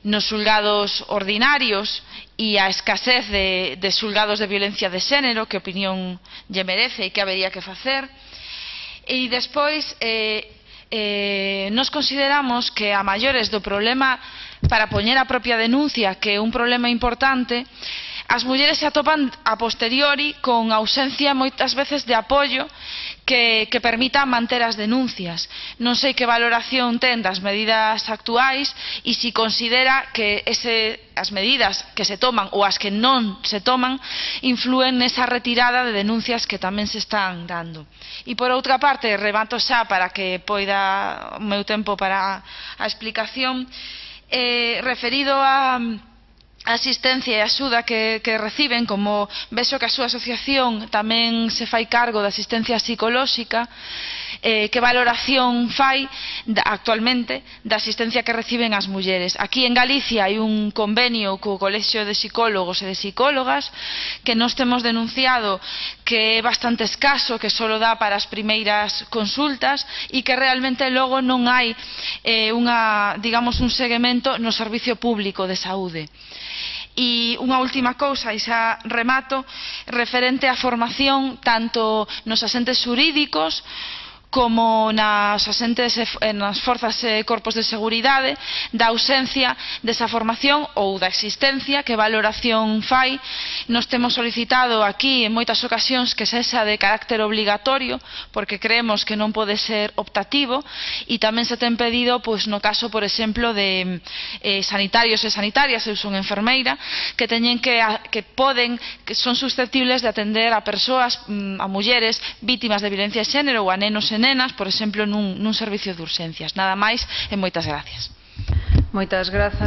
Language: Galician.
nos xulgados ordinarios e a escasez de xulgados de violencia de xénero, que opinión lle merece e que habería que facer. E despois, nos consideramos que a maiores do problema para poñer a propia denuncia, que é un problema importante, as mulleres se atopan a posteriori con ausencia moitas veces de apoio que permita manter as denuncias. Non sei que valoración ten das medidas actuais e se considera que as medidas que se toman ou as que non se toman influen nesa retirada de denuncias que tamén se están dando. E por outra parte, remato xa para que poida o meu tempo para a explicación, referido a asistencia e axuda que reciben, como vexo que a súa asociación tamén se fai cargo da asistencia psicolóxica, que valoración fai actualmente da asistencia que reciben as mulleres. Aquí en Galicia hai un convenio co Colexio de Psicólogos e de Psicólogas que nos temos denunciado que é bastante escaso, que só dá para as primeiras consultas e que realmente logo non hai un seguimento no servicio público de saúde. E unha última cousa, e xa remato, referente á formación tanto nos asentes xurídicos como nas forzas e corpos de seguridade, da ausencia desa formación ou da existencia, que valoración fai. Nos temos solicitado aquí en moitas ocasións que sexa de carácter obligatorio, porque creemos que non pode ser optativo, e tamén se ten pedido, no caso, por exemplo, de sanitarios e sanitarias, eu son enfermeira, que son susceptibles de atender a persoas, a mulleres vítimas de violencia de xénero ou a nenos e nenas, por exemplo, nun servicio de urxencias. Nada máis e moitas gracias. Moitas grazas.